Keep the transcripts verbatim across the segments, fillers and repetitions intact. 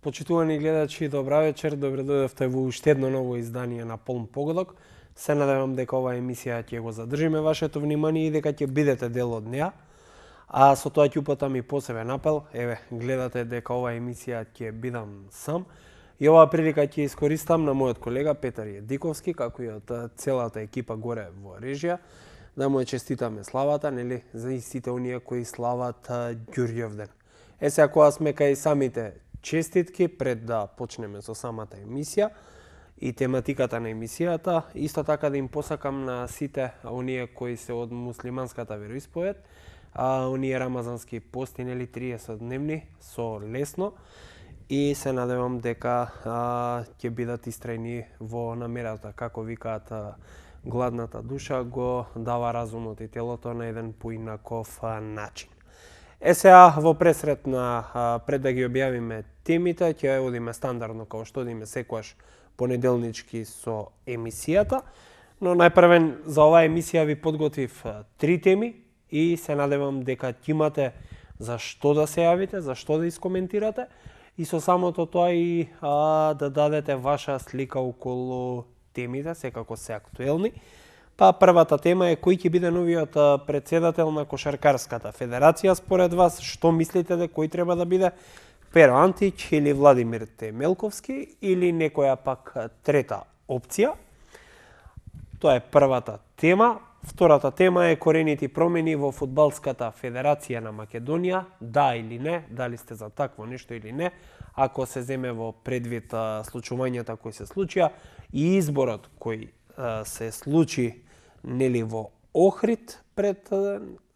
Почитувани гледачи, добра вечер, добре дојдовте во уште едно ново издание на Полн погодок. Се надевам дека оваа емисија ќе го задржиме вашето внимание и дека ќе бидете дел од неа. А со тоа ќе упатам и посебен апел. Еве, гледате дека оваа емисија ќе бидам сам. И оваа прилика ќе искористам на мојот колега Петар Једиковски, како и од целата екипа горе во режија, да му честитаме славата, нели, за сите оние кои слават Ѓурѓевден. Е сега кога сме кај самите честитки, пред да почнеме со самата емисија и тематиката на емисијата, исто така да им посакам на сите оние кои се од муслиманската вероисповед, а оние рамазански пости, нели, триесет дневни, со лесно, и се надевам дека а, ќе бидат истрајни во намерата, како викаат, а, гладната душа го дава разумот и телото на еден поинаков а, начин. Е сега во пресрет на а, пред да ги објавиме темите, ќе одиме стандардно како што одиме секогаш понеделнички со емисијата, но најпрвен за оваа емисија ви подготвив а, три теми и се надевам дека ќе имате за што да се јавите, за што да искоментирате и со самото тоа и а, да дадете ваша слика околу темите, секако се актуелни. Па првата тема е кој ќе биде новиот претседател на Кошаркарската федерација според вас, што мислите дека кој треба да биде? Перо Антич или Владимир Темелковски или некоја пак трета опција? Тоа е првата тема. Втората тема е корените промени во Фудбалската федерација на Македонија, да или не, дали сте за такво нешто или не, ако се земе во предвид случувањата кои се случија и изборот кој се случи, нели, во Охрид пред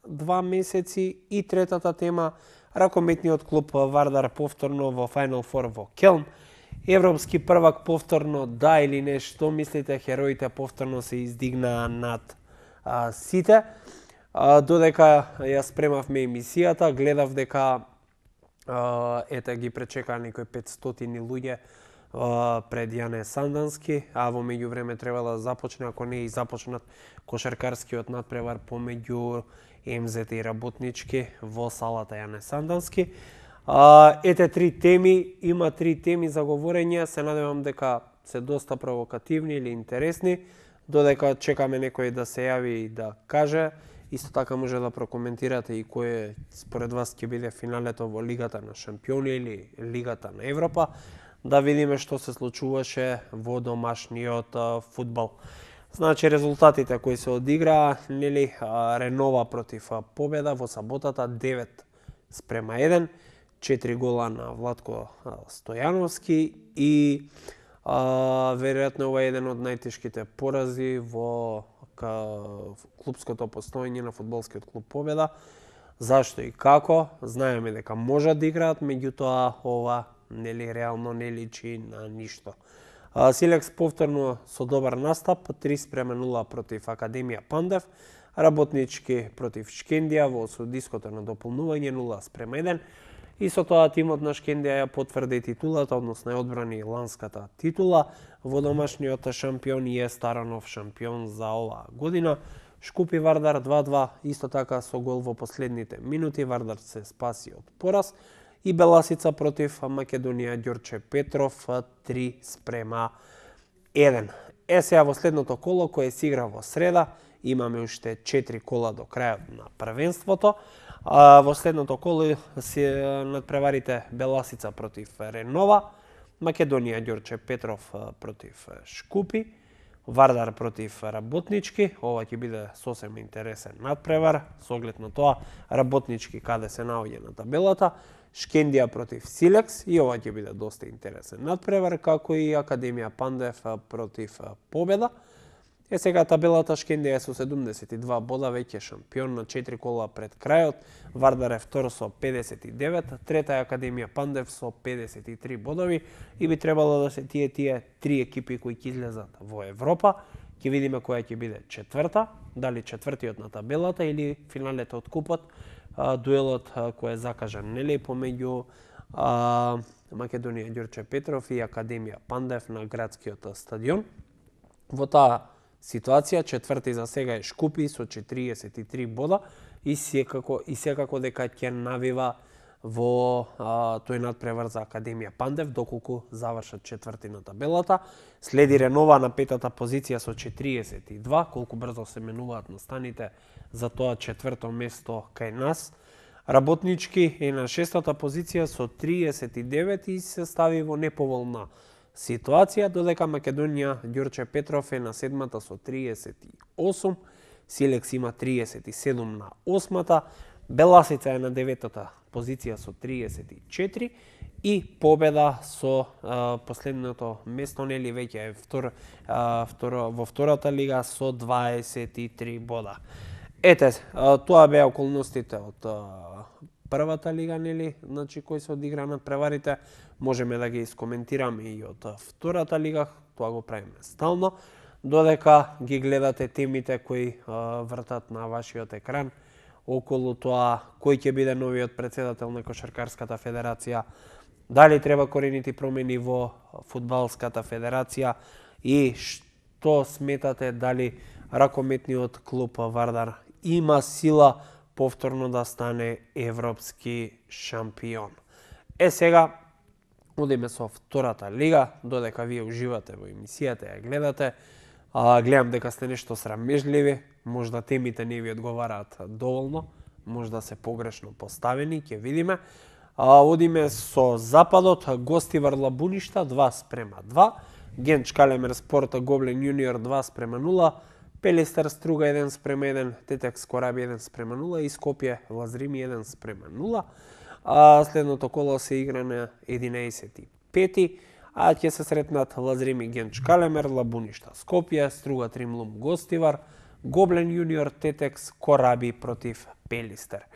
два месеци, и третата тема ракометниот клуб Вардар повторно во Final Four во Келн, европски првак повторно, да или не, што мислите, хероите повторно се издигнаа над а, сите. А, додека ја спремавме емисијата, гледав дека а, ете ги пречекаа некои петстотини луѓе пред Јане Сандански, а во меѓувреме требало да започне, ако не и започнат, кошаркарскиот надпревар помеѓу Ем Зет и Работнички во салата Јане Сандански. А, ете три теми, има три теми за говорење, се надевам дека се доста провокативни или интересни, додека чекаме некој да се јави и да каже. Исто така може да прокоментирате и кој според вас ќе биде финалето во Лигата на шампиони или Лигата на Европа, да видиме што се случуваше во домашниот фудбал. Значи, резултатите кои се одиграа, нели, Ренова против Победа во саботата девет спрема еден, четири гола на Владко Стојановски и а, веројатно ова е еден од најтешките порази во клубското постоење на фудбалскиот клуб Победа. Зашто и како? Знаеме дека можат да играат, меѓутоа ова нели реално не личи на ништо. Силекс повторно со добар настап, три спрема нула против Академија Пандев, Работнички против Шкендија во судиското на дополнување нула спрема еден, и со тоа тимот на Шкендија ја потврди титулата, односно ја одбрани ланската титула во домашниот шампион и е Старанов шампион за оваа година. Шкупи Вардар два-два, исто така со гол во последните минути, Вардар се спаси од пораз. И Беласица против Македонија Ѓорче Петров три спрема еден. Е сега во следното коло кое се игра во среда, имаме уште четири кола до крајот на првенството. А, во следното коло се надпреварите Беласица против Ренова, Македонија Ѓорче Петров против Шкупи, Вардар против Работнички. Ова ќе биде сосем интересен надпревар, со оглед на тоа Работнички каде се наоѓа на табелата, Шкендија против Силекс, и ова ќе биде доста интересен надпревар, како и Академија Пандев против Победа. Е сега табелата, Шкендија е со седумдесет и два бода, веќе шампион на четири кола пред крајот, Вардар е втор со педесет и девет, трета е Академија Пандев со педесет и три бодови, и би требало да се тие тие три екипи кои ќе излезат во Европа. Ќе видиме која ќе биде четврта, дали четвртиот на табелата или финалето од купот, дуелот кој е закажан, нели, помеѓу а, Македонија Ѓорче Петров и Академија Пандев на градскиот стадион. Во таа ситуација четврти за сега е Шкупи со четириесет и три бода и секако и секако дека ќе навива во а, тој надпревар за Академија Пандев, доколку завршат четврти на табелата. Следи Ренова на петата позиција со четириесет и два, колку брзо се менуваат настаните за тоа четврто место кај нас. Работнички е на шестата позиција со триесет и девет и се стави во неповолна ситуација, додека Македонија Ѓорче Петров е на седмата со триесет и осум, Силекс има триесет и седум на осмата, Беласица е на деветата позиција со триесет и четири и Победа со а, последното место, нели веќе е втор, а, второ, во втората лига со дваесет и три бода. Ете, а, тоа беа околностите од а, првата лига, нели, значи кои се одигра над преварите. Можеме да ги искоментираме и од втората лига, тоа го правиме стално, додека ги гледате темите кои а, вртат на вашиот екран околу тоа кој ќе биде новиот претседател на Кошаркарската федерација, дали треба коренити промени во фудбалската федерација и што сметате дали ракометниот клуб Вардар има сила повторно да стане европски шампион. Е сега одиме со втората лига, додека вие уживате во емисијата, ја гледате. А, гледам дека сте нешто срамежливи, можда темите не ви одговараат доволно, можда се погрешно поставени, ќе видиме. А, одиме со западот, Гостивар Лабуништа два спрема два, Генч Калемер Спорт Гоблен Јуниор два спрема нула, Пелистер Струга еден спрема еден, Тетекс Кораби еден спрема нула и Скопје Лазрими еден спрема нула. А, следното коло се игра на единаесет и пети, а ќе се сретнат Лазрими Генч Калемер, Лабуништа Скопје, Струга Тримлум Гостивар, Гоблен Јуниор Тетекс Кораби против Пелистер.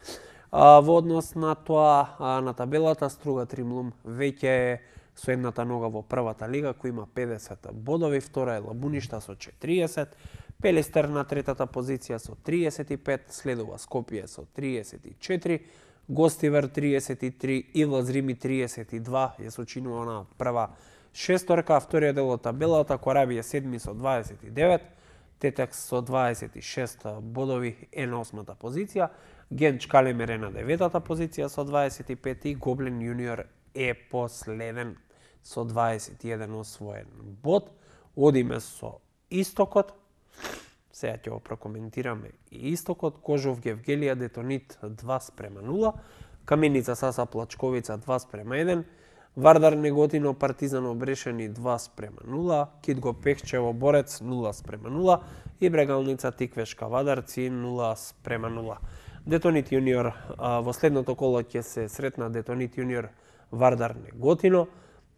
А, во однос на тоа, а, на табелата, Струга Тримлум веќе е со едната нога во првата лига, кој има педесет бодови, втора е Лабуништа со четириесет, Пелистер на третата позиција со триесет и пет, следува Скопје со триесет и четири, Гостивар триесет и три и Лазрими триесет и два, ја сочинува на прва шесторка, вториот дел од табелата, Кораби е седми со дваесет и девет, Тетекс со дваесет и шест бодови е на осмата позиција, Генч Калемер е на деветата позиција со дваесет и пет и Гоблен Јуниор е последен со дваесет и еден освоен бод. Одиме со истокот. Сега ќе го прокоментираме и истокот. Кожов Гевгелија Детонит два спрема нула, Каменица Саса Плачковица два спрема еден, Вардар Неготино Партизан Обрешени два спрема нула, Китго Пехчево Борец нула спрема нула и Брегалница Тиквешка Вадарци нула спрема нула. Детонит Јуниор во следното коло ќе се сретна Детонит Јуниор Вардар Неготино,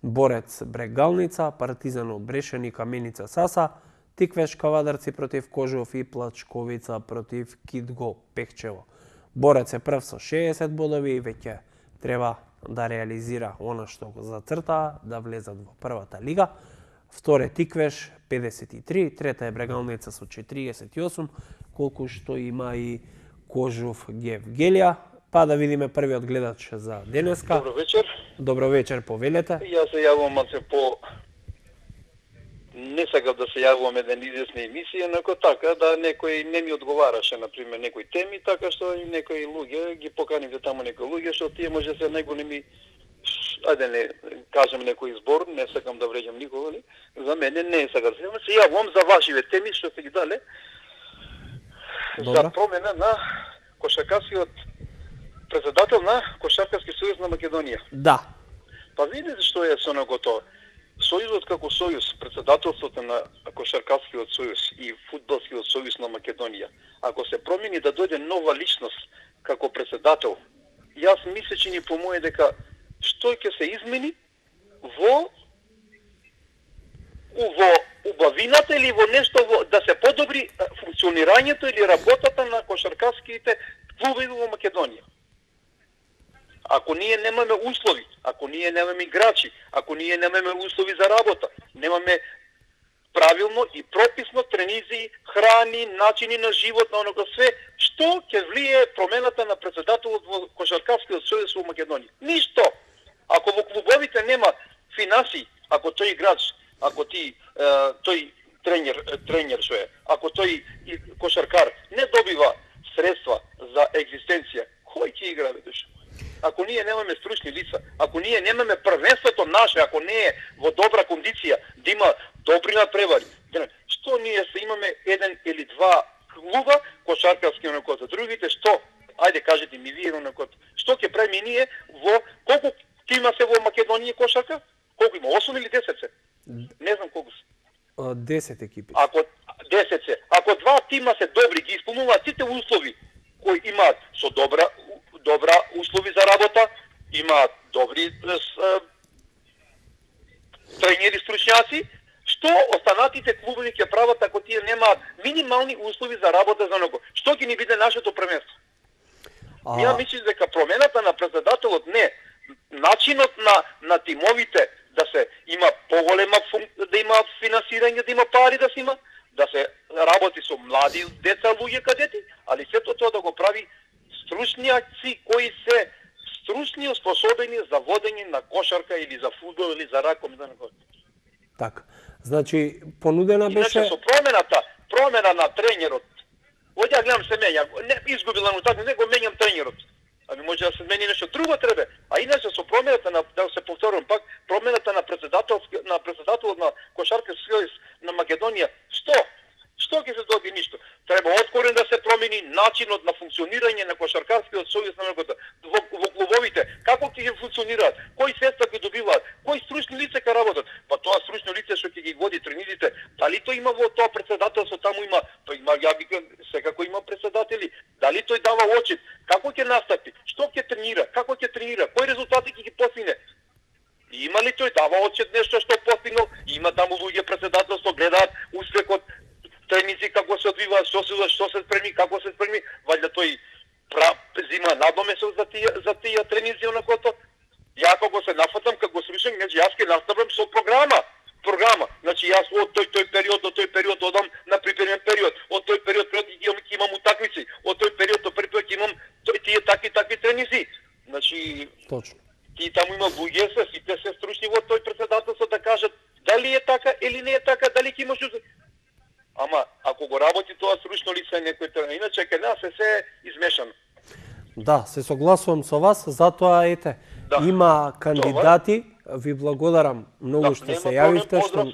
Борец Брегалница, Партизан Обрешени Каменица Саса, Тиквешка Вадарци против Кожов и Плачковица против Китго Пехчево. Борец е прв со шеесет бодови и веќе треба да реализира она што го зацрта, да влезат во првата лига. Втор е Тиквеш педесет и три, трета е Брегалница со четириесет и осум, колку што има и Кожов Гевгелија. Па да видиме првиот гледач за денеска. Добро вечер. Добро вечер, повелете. Јас се јавувам малце по... Не сакав да се јавувам еден известна емисија, неко така да некој не ми одговараше, например, некои теми, така што и некои луѓе ги поканивте таму некои луѓе, што тие може се најголеми, ајде не кажем некој збор, не сакам да вреđам никога, ли? За мене не сакам да се јавувам, се јавувам за вашиве теми што сте ги дале. Добра. За промена на кошаркарскиот председател на Кошаркарски сојуз на Македонија. Да. Па видите што е со него. Сојузот како сојуз, председателството на Кошаркарскиот сојуз и Фудбалскиот сојуз на Македонија, ако се промени да дојде нова личност како председател, јас мислам че ни помое дека што ќе се измени во во убавината или во нешто во, да се подобри функционирањето или работата на кошаркарските клубови во Македонија. Ако ние немаме услови, ако ние немаме играчи, ако ние немаме услови за работа, немаме правилно и прописно тренизии, храни, начини на живот, на оноga све, што ќе влие промената на председателот во Кошаркарскиот сојуз во Македонија? Ништо. Ако во клубовите нема финансии, ако тој играч, ако ти е, тој тренер, тренер што е, ако тој кошаркар не добива средства за екзистенција, кој ќе игра веднаш? ако ние немаме стручни лица, ако ние немаме првенството наше, ако не е во добра кондиција, да има добри надпревари, што ние се имаме еден или два клуба кошаркарски онакот, за другите што? Ајде кажете ми вие онакот. Што ќе правиме ние во колку тима се во Македонија кошарка? Колку има? осум или десет се? Не знам колку се. десет екипи. Ако десет се, ако два тима се добри, ги исполнуваат сите услови кои имаат со добра добра услови за работа, имаат добри тренери стручњаци, што останатите клубови ќе прават ако тие немаат минимални услови за работа за него? Што ќе ни биде нашето првенство? А... Ја мислам дека промената на председателот не, начинот на на тимовите да се има поголема функ... да има финансирање, да има пари да се има, да се работи со млади деца, луѓе, кадети, али сето тоа да го прави стручњаци кои се стручни и способени за водење на кошарка или за фудбал или за раком, да не го. Така. Значи понудена беше Иначе со промената, промена на тренерот. Оѓа ја гледам се мења, не изгубила му така, не го менјам тренерот. Ами може да се смени нешто друго треба. А иначе со промената на, да се повторам пак, промената на председателски на председателот на Кошаркарски сојуз на Македонија, што? Што ќе се доби ништо? Треба откорен да се промени начинот на функционирање на Кошаркарскиот сојуз на Македонија во, во клубовите. Како ќе функционираат? Кои средства ги добиваат? Кои стручни лица ќе работат? Па тоа стручно лице што ќе ги води тренерите, дали тој има во тоа председателство, таму има, тој има, ја викам, секако има председатели. Дали тој дава очит? Како ќе настапи? Што ќе тренира? Како ќе тренира? Кои резултати ќе ги постигне? Има ли тој дава очит нешто што постигнал? Има таму луѓе председателство, гледаат успехот, тренинзи како се одвиваат, што се што се спреми, како се спреми, ваljda тој прав зима надомесок за тие за тие тренинзи онакото. Ја кога се нафатам како стручен, значи јас ќе наставам со програма. Програма. Значи јас од тој тој период до тој период одам на приpreмен период. Од тој период период ќе имам, имам утакмици. Од тој период до период ќе имам тој тие такви такви тренинзи. Значи точно. И таму има луѓе се сите се стручни во тој председателство да кажат дали е така или не е така, дали ќе имаш. Ама ако го работи тоа стручно лице некој тренер, иначе кај нас е се измешано. Да, се согласувам со вас, затоа ете, да. Има кандидати, ви благодарам многу да, што се јавивте, што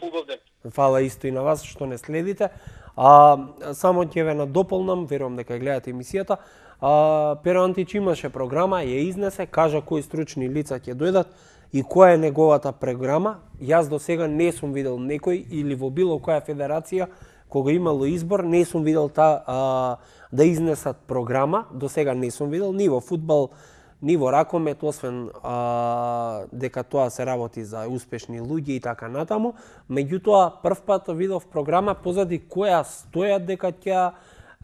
фала исто и на вас што не следите. А само ќе ве надополнам, верувам дека гледате емисијата. А, Перо Антич имаше програма, ја изнесе, кажа кои стручни лица ќе дојдат и која е неговата програма. Јас до сега не сум видел некој или во било која федерација кога имало избор, не сум видел та, а, да изнесат програма, до сега не сум видел, ни во фудбал, ни во ракомет, освен а, дека тоа се работи за успешни луѓе и така натаму. Меѓутоа, прв пат видов програма позади која стојат дека ќе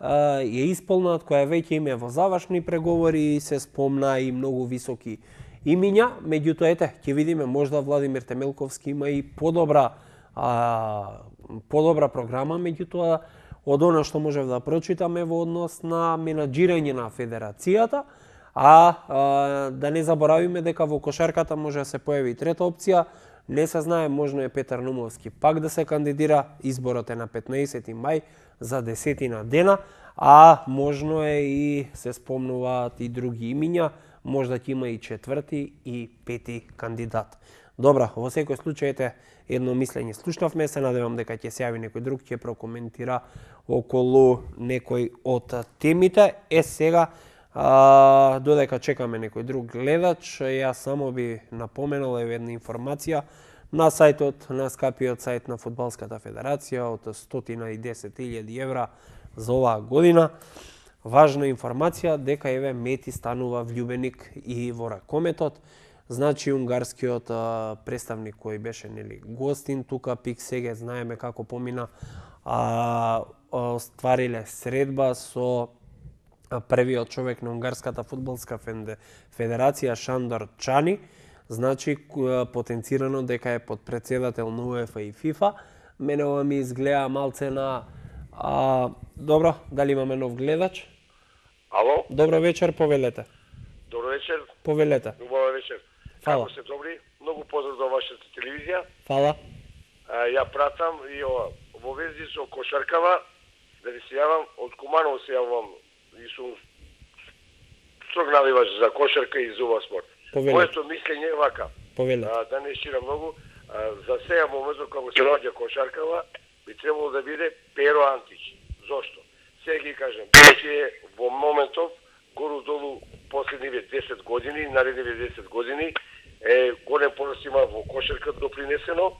ја исполнат, која веќе име во завршни преговори, се спомна и многу високи имиња. Меѓутоа, ете, ќе видиме, можда Владимир Темелковски има и подобра а, подобра програма, меѓутоа од она што можев да прочитаме во однос на менаџирање на федерацијата, а, а да не заборавиме дека во кошарката може да се појави и трета опција, не се знае, можно е Петар Нумовски пак да се кандидира, изборот е на петнаесети мај за десетина дена, а можно е и се спомнуваат и други имиња, можда ќе има и четврти и пети кандидат. Добра, во секој случај ете едно мислење слушнавме, се надевам дека ќе се јави некој друг, ќе прокоментира околу некој од темите. Е сега, а, додека чекаме некој друг гледач, јас само би напоменал една информација на сајтот, на скапиот сајт на Фудбалската федерација од сто и десет илјади евра за оваа година. Важна информација дека еве Мети станува влюбеник и во ракометот. Значи, унгарскиот а, представник кој беше нели гостин тука, пик сега знаеме како помина, а, оствариле средба со првиот човек на унгарската фудбалска федерација Шандор Чани. Значи, потенцирано дека е подпредседател на УЕФА и ФИФА. Мене ова ми изгледа малце на... А, добро, дали имаме нов гледач? Ало? Добро вечер, повелете. Добро вечер. Повелете. Убава вечер. Фала. Како се добри? Многу поздрав за вашата телевизија. Фала. А, ја пратам и ова, во вези со кошаркава, да ви се јавам, од Куманово се јавам и сум строг наливач за кошарка и за ова спорт. Повеле. Моето мислење е вака. Повеле. А, да не шира многу, а, за сега моментот кога се наоѓа кошаркава, би требало да биде Перо Антич. Зошто? Сега ги кажем, ќе во моментов гору-долу последниве десет години, наредниве десет години, е голем порас има во кошарка допринесено.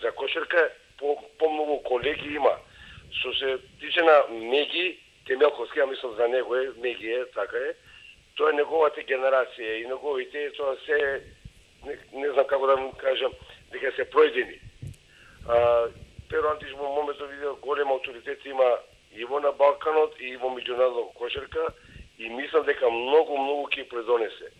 За кошарка по, помногу колеги има. Што се тиче на Меги, Темелковски, ја мислам за него е, Меги е, така е. Тоа е неговата генерација и неговите, тоа се, не, не знам како да му кажам, дека се пројдени. А, Перо Антич во моментот видел голем авторитет има и во на Балканот и во меѓународна кошарка и мислам дека многу, многу ќе предонесе.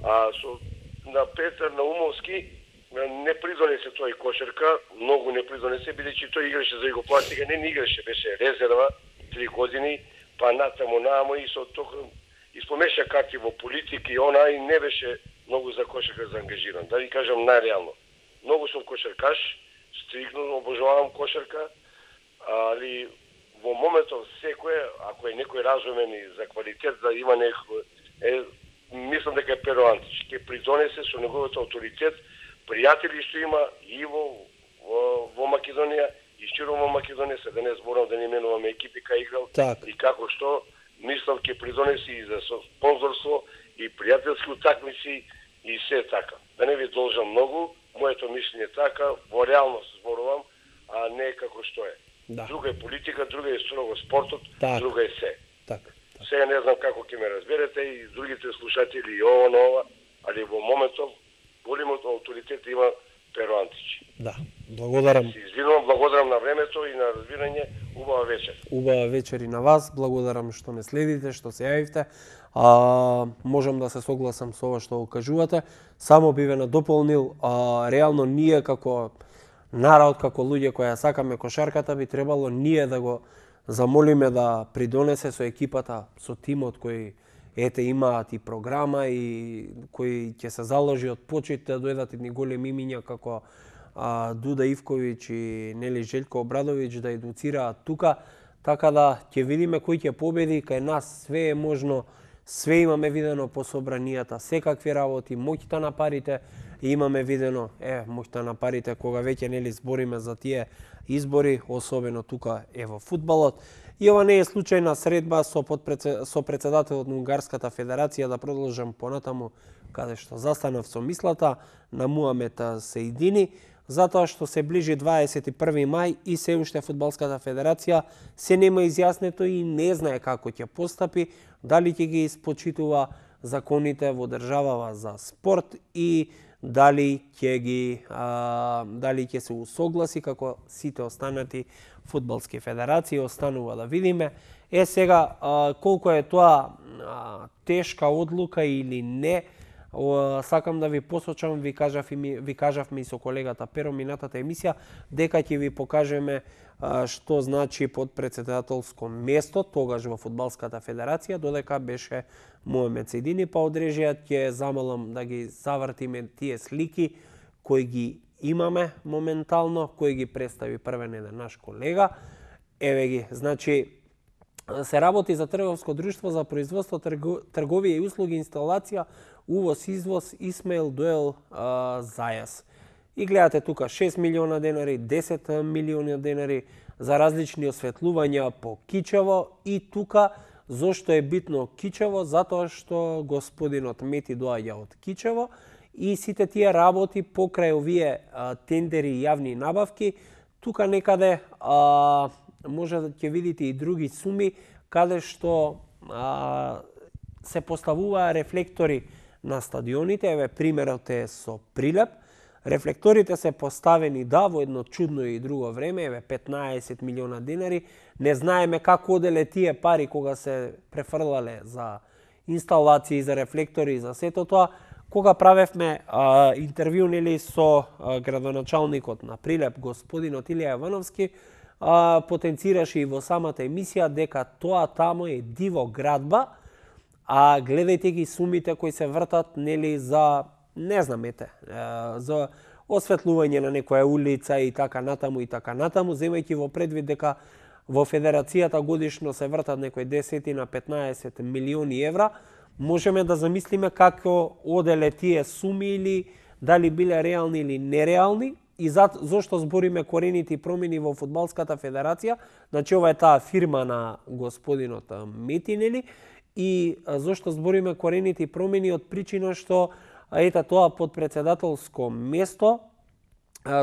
А со на Петар Наумовски не придонесе тој кошарка, многу не придонесе, бидејќи тој играше за Југославија, не, не играше, беше резерва три години, па натаму намо и со тоа испомеша карти во политика и она и не беше многу за кошарка заангажиран. Да ви кажам најреално. Многу сум кошаркаш, стрикно обожавам кошарка, али во моментов секој, ако е некој разумен и за квалитет да има некој, е, мислам дека е Перо Антич. Ке придонесе со неговиот авторитет, пријатели што има и во, во, во Македонија, и широ во Македонија, се да не зборам да не именуваме екипи кај играл, так. И како што, мислам ке придонеси и за спонзорство, и пријателски утакмици, и се така. Да не ви должам многу, моето мислење е така, во реалност зборувам, а не како што е. Да. Друга е политика, друга е строго спортот, так. друга е се. Так, так. Сега не знам како ќе ме разберете и другите слушатели и ова, ова, али во моментов големот авторитет има Перо Антич. Да, благодарам. Се извинувам, благодарам на времето и на разбирање. Убава вечер. Убава вечер и на вас. Благодарам што ме следите, што се јавивте. А, можам да се согласам со ова што го кажувате. Само би ве надополнил, а, реално ние како народ, како луѓе кои ја сакаме кошарката, би требало ние да го замолиме да придонесе со екипата, со тимот кој ете имаат и програма и кои ќе се заложи од почет да дојдат едни големи имиња како а, Дуда Ивковиќ и нели Желко Обрадовиќ да едуцираат тука, така да ќе видиме кој ќе победи. Кај нас све е можно, све имаме видено по собранијата, секакви работи, моќта на парите имаме видено, е, моќта на парите кога веќе нели збориме за тие избори, особено тука е во фудбалот. И ова не е случајна средба со, подпредсе... со председателот на Унгарската федерација, да продолжам понатаму каде што застанав со мислата на Муамет Сеидини, затоа што се ближи дваесет и први мај и се уште Фудбалската федерација се нема изјаснето и не знае како ќе постапи, дали ќе ги испочитува законите во државава за спорт и дали ќе ги а, дали ќе се усогласи како сите останати фудбалски федерации. Останува да видиме. Е сега а, колку е тоа а, тешка одлука или не, о, сакам да ви посочам, ви кажав и ми, ви кажавме и со колегата Перо минатата емисија дека ќе ви покажеме а, што значи подпредседателско место тогаш во Фудбалската федерација, додека беше Муамет Сеидини, па одрежијат ќе замалам да ги завртиме тие слики кои ги имаме моментално, кој ги представи првен еден наш колега. Еве ги, значи се работи за трговско друштво за производство, трговија и услуги, инсталација, увоз, извоз, Исмаил Дуел а, Зајас. И гледате тука шест милиона денари, десет милиони денари за различни осветлувања по Кичево. И тука зошто е битно Кичево? Затоа што господинот Мети доаѓа од Кичево и сите тие работи покрај овие а, тендери и јавни набавки, тука некаде а, може да ќе видите и други суми каде што а, се поставуваа рефлектори на стадионите. Еве примерот е со Прилеп. Рефлекторите се поставени да во едно чудно и друго време, еве петнаесет милиона денари. Не знаеме како оделе тие пари кога се префрлале за инсталации, за рефлектори, за сето тоа. Кога правевме а, интервју нели со а, градоначалникот на Прилеп, господинот Илија Јовановски, а, потенцираше и во самата емисија дека тоа тамо е диво градба, а гледајте ги сумите кои се вртат нели за, не знам ете, за осветлување на некоја улица и така натаму и така натаму, земајќи во предвид дека во федерацијата годишно се вртат некои десет на петнаесет милиони евра, можеме да замислиме како оделе тие суми или дали биле реални или нереални и за, зошто збориме корените промени во Фудбалската федерација, значи ова е таа фирма на господинот Метинели, и зошто збориме корените промени од причина што ете тоа подпредседателско место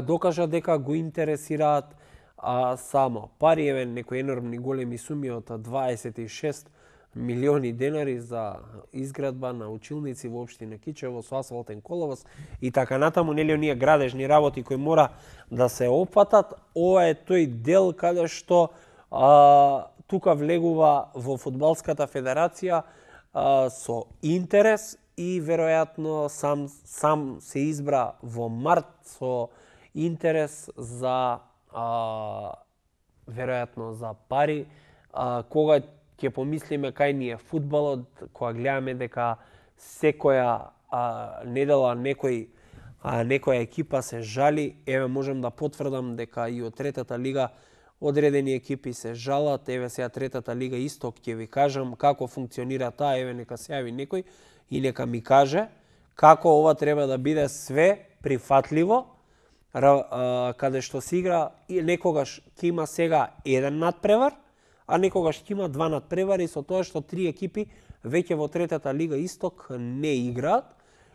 докажа дека го интересираат а, само пари, еве некои енормни големи суми од дваесет и шест милиони денари за изградба на училници во општина Кичево со асфалтен коловоз и така натаму, нели оние градежни работи кои мора да се опфатат. Ова е тој дел каде што а, тука влегува во Фудбалската федерација а, со интерес и веројатно сам сам се избра во март со интерес за а, веројатно за пари, а, кога ќе помислиме кај ни е фудбалот, кога гледаме дека секоја а, недела некој а, некоја екипа се жали, еве можам да потврдам дека и од третата лига одредени екипи се жалат, еве сега третата лига Исток ќе ви кажам како функционира таа, еве нека се јави некој и нека ми каже како ова треба да биде све прифатливо, каде што се игра и некогаш ќе има сега еден надпревар, а некогаш ќе има два надпревари со тоа што три екипи веќе во третата лига Исток не играат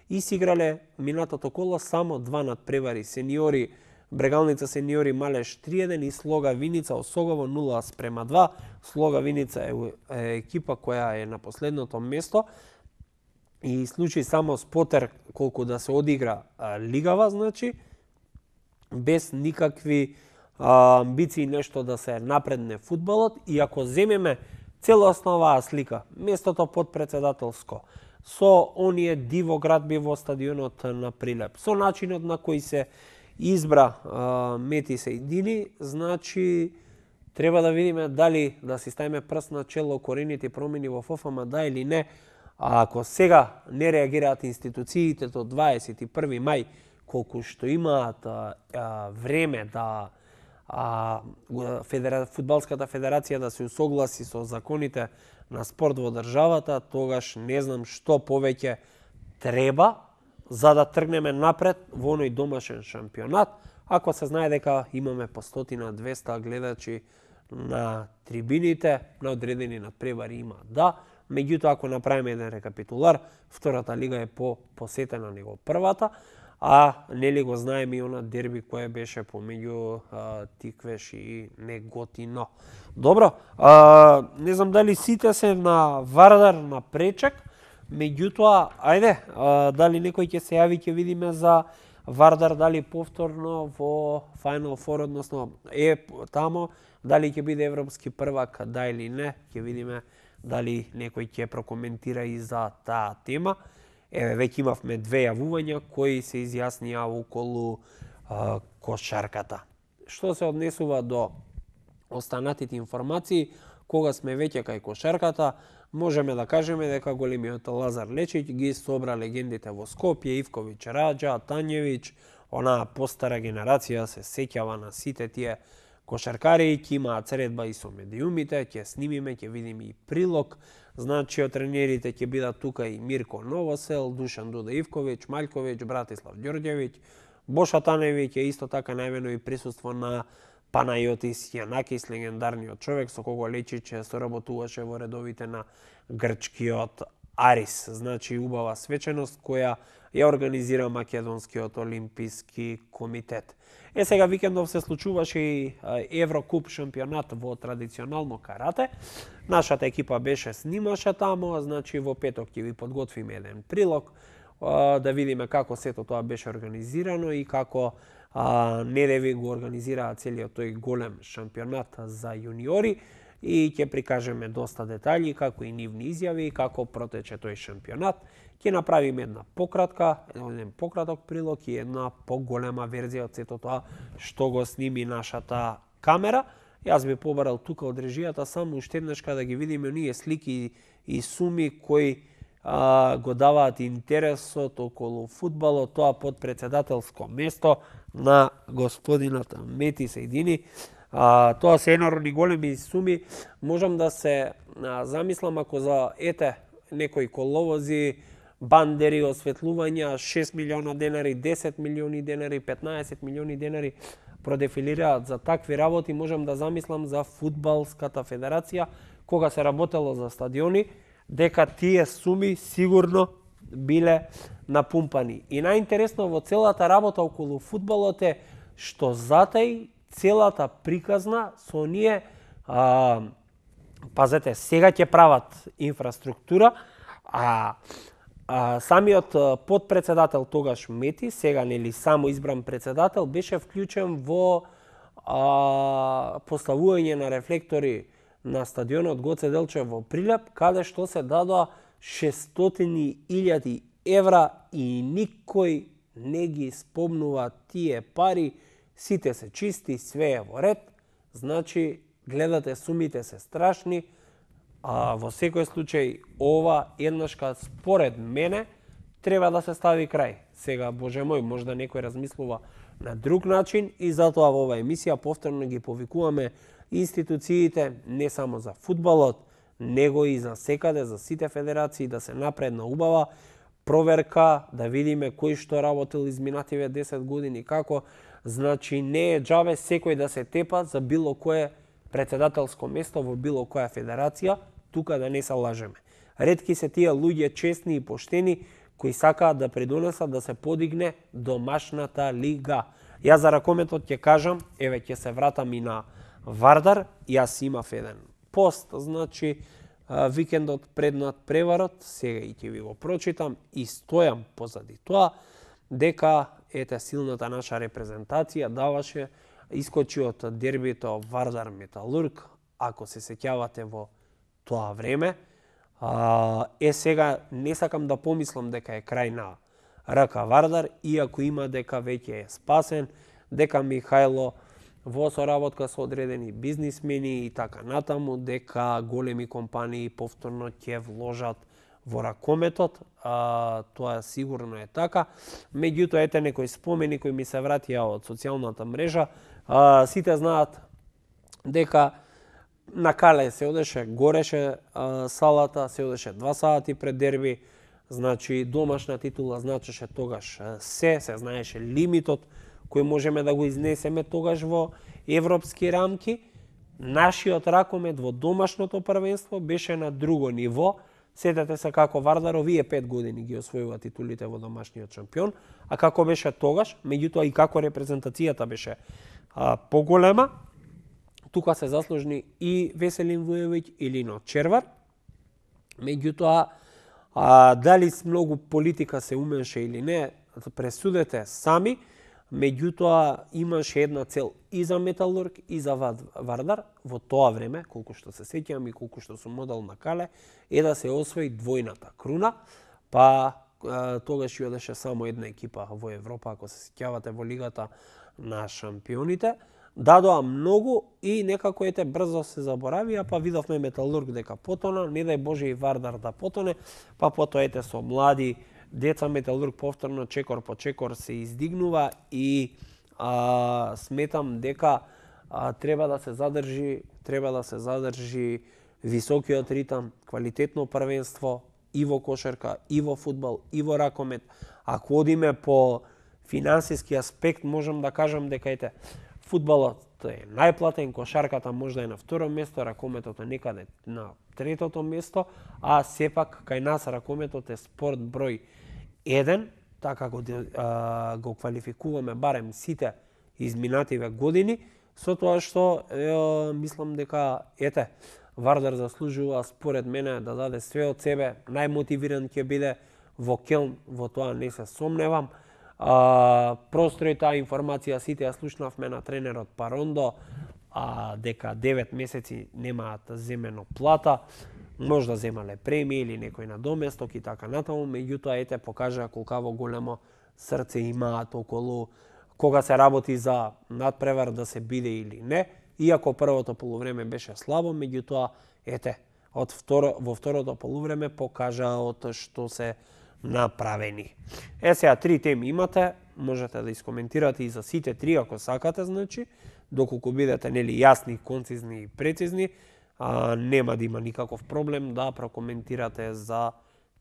и си играле минатото коло само два надпревари. Сениори Брегалница сениори Малеш три еден и Слога Виница Осогово нула спрема два. Слога Виница е, е екипа која е на последното место и случај само Спотер колку да се одигра а, лигава, значи без никакви а, амбиции нешто да се напредне фудбалот, и ако земеме целосно оваа слика, местото подпредседателско, со оние диво градби во стадионот на Прилеп, со начинот на кој се избра а, Мети Сејдини, значи треба да видиме дали да си ставиме прст на чело корените промени во ФФМ, да или не. А ако сега не реагираат институциите до дваесет и први мај, колку што имаат а, а, време да а, федера... Фудбалската федерација да се усогласи со законите на спорт во државата, тогаш не знам што повеќе треба за да тргнеме напред во оној домашен шампионат, ако се знае дека имаме по стотина двеста гледачи на трибините, на одредени надпревари има, да. Меѓутоа, ако направиме еден рекапитулар, втората лига е по посетена него првата, а нели го знаеме и она дерби кое беше помеѓу а, Тиквеш и Неготино. Добро, а, не знам дали сите се на Вардар на пречек, меѓутоа, ајде, а, дали некој ќе се јави, ќе видиме за Вардар, дали повторно во Final Four, односно е тамо, дали ќе биде европски првак, да или не, ќе видиме дали некој ќе прокоментира и за таа тема. Еве, веќе имавме две јавувања кои се изјаснија околу а, кошарката. Што се однесува до останатите информации, кога сме веќе кај кошарката, можеме да кажеме дека големиот Лазар Лечич ги собра легендите во Скопје, Ивковиќ, Раџа, Тањевиќ, онаа постара генерација се сеќава на сите тие кошаркари, ќе имаат средба и со медиумите, ќе снимиме, ќе видиме и прилог. Значи, од тренерите ќе бидат тука и Мирко Новосел, Душан Дуда Ивковиќ, Маљковиќ, Братислав Ѓорѓевиќ, Боша Таневиќ е исто така најавено и присуство на Панајотис Јанакис, легендарниот човек со кого Лечич соработуваше во редовите на грчкиот Арис. Значи, убава свеченост која ја организира Македонскиот олимписки комитет. Е, сега викендов се случуваше и Еврокуп шампионат во традиционално карате. Нашата екипа беше снимаше тамо, значи во петок ќе ви подготвиме еден прилог, да видиме како сето тоа беше организирано и како Недеви го организираа целиот тој голем шампионат за јуниори, и ќе прикажеме доста детаљи, како и нивни изјави, како протече тој шампионат. Ќе направиме една пократка, еден пократок прилог и една поголема верзија од сето тоа што го сними нашата камера. Јас би побарал тука од режијата само уште еднашка да ги видиме оние слики и суми кои а, го даваат интересот околу фудбалот, тоа под председателско место на господинот Мети Сејдини. А, тоа се енормни големи суми. Можам да се а, замислам ако за ете некои коловози, бандери, осветлувања, шест милиона денари, десет милиони денари, петнаесет милиони денари продефилираат за такви работи, можам да замислам за фудбалската федерација, кога се работело за стадиони, дека тие суми сигурно биле напумпани. И најинтересно во целата работа околу фудбалот е што затај целата приказна со ние, а, пазете, сега ќе прават инфраструктура, а А, самиот подпредседател тогаш Мети, сега нели само избран председател, беше вклучен во а, поставување на рефлектори на стадионот Гоце Делчев во Прилеп, каде што се дадоа шестстотини илјади евра и никој не ги спомнува тие пари, сите се чисти, све е во ред, значи гледате сумите се страшни. А во секој случај, ова еднашка, според мене, треба да се стави крај. Сега, Боже мој, можда некој размислува на друг начин и затоа во оваа емисија повторно ги повикуваме институциите, не само за фудбалот, него и за секаде, за сите федерации, да се напредна убава проверка, да видиме кој што работил изминативе десет години, како. Значи, не е џабе секој да се тепа за било кое председателско место во било која федерација, тука да не се лажеме. Ретки се тие луѓе честни и поштени кои сакаат да придонесат да се подигне домашната лига. Јас за ракометот ќе кажам, еве ќе се вратам и на Вардар, јас имав еден пост, значи викендот пред над преварот, сега и ќе ви го прочитам и стојам позади тоа, дека ете силната наша репрезентација даваше, искочи од дербито Вардар Металург, ако се сеќавате во тоа време. А, е сега не сакам да помислам дека е крај на РК Вардар, иако има дека веќе е спасен, дека Михајло во соработка со одредени бизнисмени и така натаму, дека големи компании повторно ќе вложат во ракометот, а, тоа сигурно е така. Меѓутоа, ете некои спомени кои ми се вратија од социјалната мрежа. А, сите знаат дека на Кале се одеше, гореше а, салата, се одеше два сати пред дерби, значи домашна титула значеше тогаш се, се знаеше лимитот кој можеме да го изнесеме тогаш во европски рамки. Нашиот ракомет во домашното првенство беше на друго ниво. Сетете се како Вардар овие пет години ги освојува титулите во домашниот шампион, а како беше тогаш, меѓутоа и како репрезентацијата беше а, поголема. Тука се заслужни и Веселин Вујовиќ и Лино Червар. Меѓутоа, а, дали с многу политика се умеше или не, пресудете сами. Меѓутоа, имаше една цел и за Металург, и за Вардар во тоа време, колку што се сеќавам и колку што сум модел на Кале, е да се освои двојната круна, па а, тогаш и одеше само една екипа во Европа, ако се сеќавате во Лигата на шампионите. Дадоа многу и некако ете брзо се заборавија, па видовме Металург дека потона, не дај Боже и Вардар да потоне, па потоа ете со млади деца Металург повторно чекор по чекор се издигнува и а, сметам дека а, треба да се задржи, треба да се задржи високиот ритам, квалитетно првенство и во кошарка, и во фудбал, и во ракомет. Ако одиме по финансиски аспект, можам да кажам дека ете фудбалот е најплатен, кошарката можда е на второ место, ракометот е некаде на третото место, а сепак кај нас ракометот е спорт број еден, така го, а, го квалификуваме барем сите изминативе години, со тоа што е, мислам дека ете Вардар заслужува според мене да даде све од себе, најмотивиран ќе биде во Келн, во тоа не се сомневам. А, просто и таа информација сите ја слушнавме на тренерот Парондо, а, дека девет месеци немаат земено плата, можда земале премии или некој надоместок и така натаму, меѓутоа ете покажа колкаво големо срце имаат околу кога се работи за надпревар да се биде или не, иако првото полувреме беше слабо, меѓутоа ете од второ, во второто полувреме покажа од што се направени. Е сега три теми имате, можете да искоментирате и за сите три ако сакате, значи, доколку бидете нели јасни, концизни и прецизни. а, нема да има никаков проблем да прокоментирате за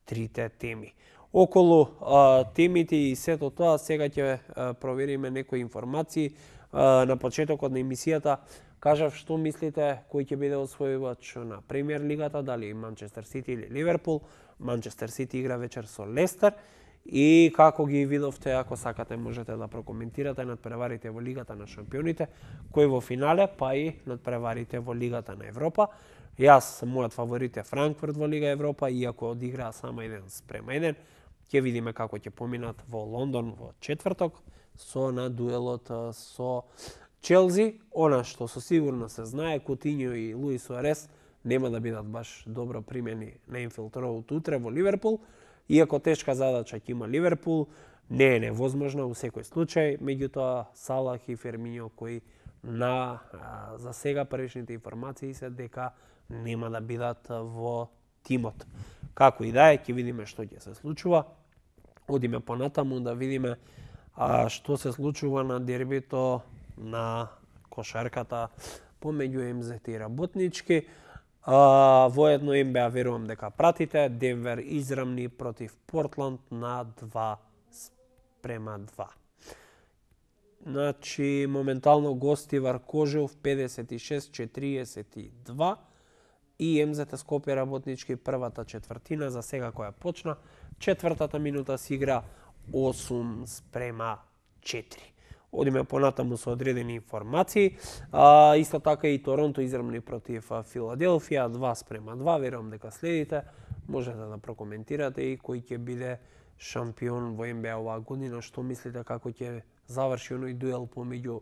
трите теми. Околу а, темите и сето тоа, сега ќе а, провериме некои информации. А, на почетокот на емисијата кажав што мислите кој ќе биде освојувач на Премиер лигата, дали Манчестер Сити или Ливерпул. Манчестер Сити игра вечер со Лестер. И како ги видовте, ако сакате можете да прокоментирате надпреварите во Лигата на шампионите, кој во финале, па и надпреварите во Лигата на Европа. Јас, мојот фаворит е Франкфурт во Лига Европа, иако одиграа само еден спрема еден. Ќе видиме како ќе поминат во Лондон во четврток со на дуелот со Челси. Она што со сигурно се знае, Кутинјо и Луис Суарес нема да бидат баш добро примени на Енфилд Роуд утре во Ливерпул. Иако тешка задача ќе има Ливерпул, не е невозможно во секој случај, меѓутоа Салах и Фермињо кои на а, за сега првичните информации се дека нема да бидат во тимот. Како и да е, ќе видиме што ќе се случува. Одиме понатаму да видиме а, што се случува на дербито на кошарката помеѓу Ем Зет и Работнички. А, воедно Ен Би А верувам дека пратите. Денвер израмни против Портланд на два спрема два. Значи, моментално гости Варкожев педесет и шест четириесет и два и Ем Зет Скопје Работнички првата четвртина за сега која почна. Четвртата минута се игра осум спрема четири. Одиме понатаму со одредени информации. А, исто така и Торонто израмни против Филаделфија два спрема два. Верувам дека следите. Можете да прокоментирате и кој ќе биде шампион во Ен Би А оваа година. Што мислите како ќе заврши оној дуел помеѓу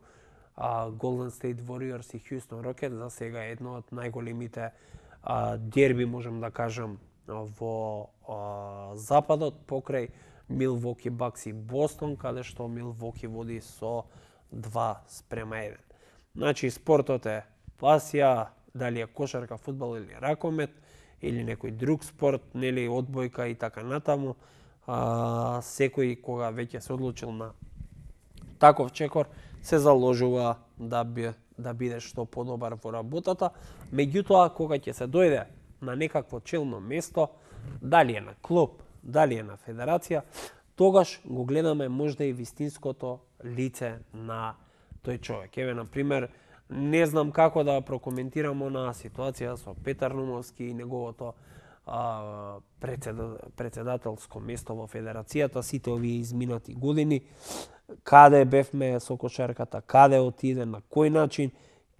Golden State Warriors и Houston Rockets? За сега е едно од најголемите а, дерби, можем да кажам, во а, западот покрај Милвоки Бакс и Бостон, каде што Милвоки води со два спрема еден. Значи, спортот е пасија, дали е кошарка, фудбал или ракомет, или некој друг спорт, нели одбојка и така натаму. А, секој кога веќе се одлучил на таков чекор, се заложува да, би, да биде што подобар во работата. Меѓутоа, кога ќе се дојде на некакво челно место, дали е на клуб, дали е на федерација, тогаш го гледаме можда и вистинското лице на тој човек. Еве, например, не знам како да прокоментирам на ситуација со Петар Нумовски и неговото а, председателско место во федерацијата, сите овие изминати години, каде бевме со кошарката, каде отиде, на кој начин,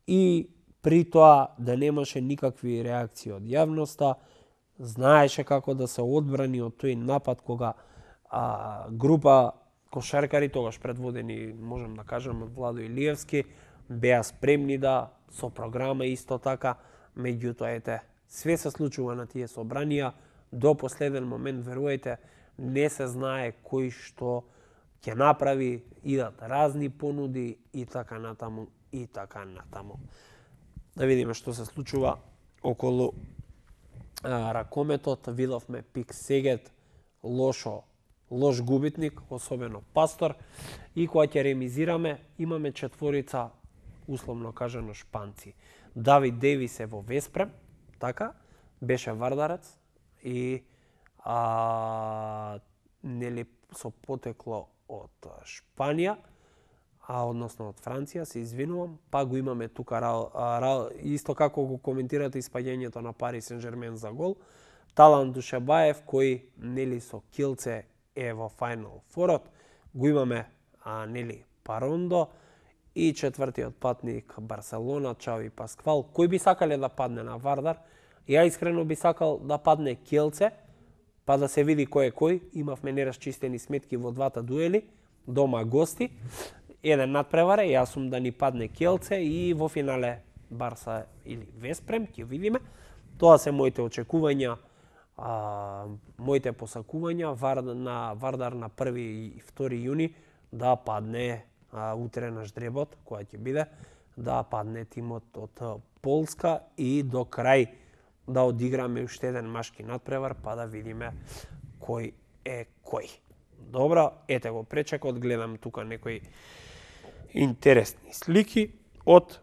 и при тоа да немаше никакви реакции од јавноста, знаеше како да се одбрани од тој напад кога а, група кошаркари, тогаш предводени, можем да кажем, од Владо Илиевски, беа спремни да со програма исто така, меѓутоа ете, све се случува на тие собранија, до последен момент, верувајте, не се знае кој што ќе направи, идат разни понуди и така натаму, и така натаму. Да видиме што се случува околу а, ракометот. Видовме Пик Сегет, лошо, лош губитник, особено Пастор, и кога ќе ремизираме, имаме четворица, условно кажано, шпанци. Давид Девис е во Веспрем, така, беше вардарец и а, нели со потекло од Шпанија, а односно од Франција, се извинувам, па го имаме тука Рал, Рал, исто како го коментирате испаѓањето на Пари Сен-Жермен за гол, Талан Душебаев, кој нели со Килце е во Final Fourот, го имаме а, нели Парондо и четвртиот патник Барселона, Чави Пасквал, кој би сакале да падне на Вардар. Ја искрено би сакал да падне Келце, па да се види кој е кој. Имавме нерасчистени сметки во двата дуели, дома гости. Еден надпреваре, јас сум да ни падне Келце и во финале Барса или Веспрем, ќе видиме. Тоа се моите очекувања, а, моите посакувања Вар, на Вардар на први и втори јуни да падне а, утре на ждребот, која ќе биде, да падне тимот од Полска и до крај да одиграме уште еден машки надпревар, па да видиме кој е кој. Добро, ете го пречекот, гледам тука некои интересни слики од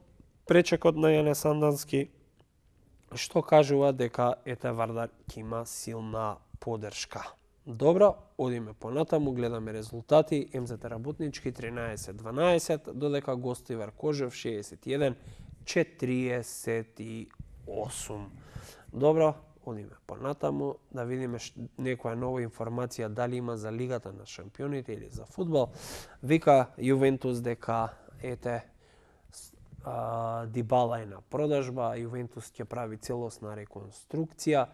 пречекот на Јане Сандански. што кажува дека ете Вардар ќе има силна поддршка. Добро, одиме понатаму, гледаме резултати. ем зет Работнички тринаесет дванаесет, додека Гостивар Кожев шеесет и еден четириесет и осум. Добро, одиме понатаму да видиме некоја нова информација дали има за Лигата на шампионите или за фудбал. Вика Јувентус дека ете а, Дибала е на продажба, Јувентус ќе прави целосна реконструкција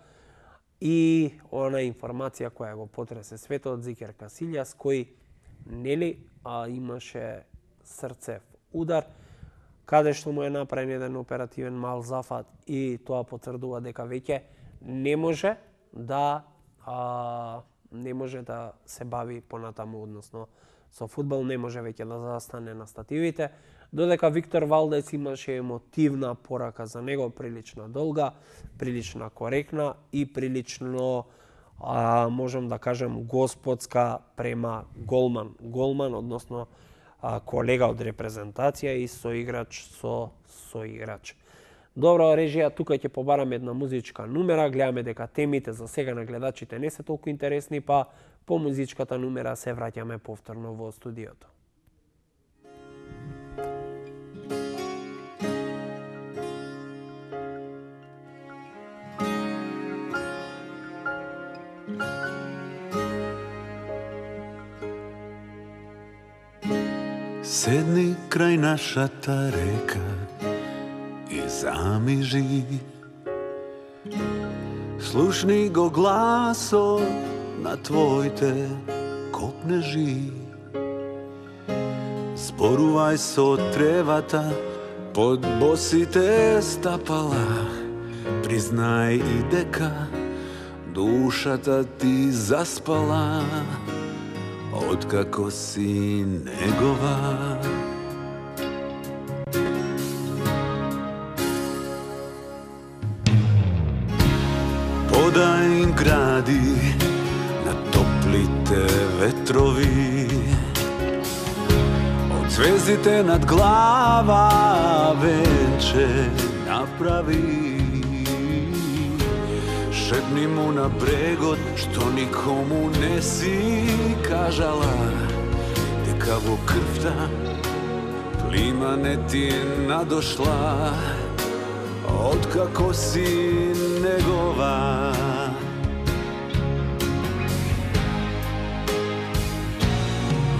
и она информација која го потресе светот, Зикер Касилјас, кој нели а, имаше срцев удар, каде што му е направен еден оперативен мал зафат и тоа потврдува дека веќе не може да а, не може да се бави понатаму, односно со фудбал не може веќе да застане на стативите, додека Виктор Валдес имаше емотивна порака за него, прилично долга, прилично коректна и прилично а, можам да кажем господска према голман, голман односно а, колега од репрезентација и соиграч со соиграч. Добро, режија, тука ќе побараме една музичка нумера, гледаме дека темите за сега на гледачите не се толку интересни, па по музичката нумера се враќаме повторно во студиото. Седни крај нашата река и замижи. Слушни го гласот на твоите копнежи. Зборувај со тревата под босите стапала. Признај и дека душата ти заспала. Откако си негова. Подај им гради на топлите ветрови. Од звездите над глава венче направи. Шепни му на брегот што никому не си кажала, дека во крвта плима не ти надошла, откако си негова.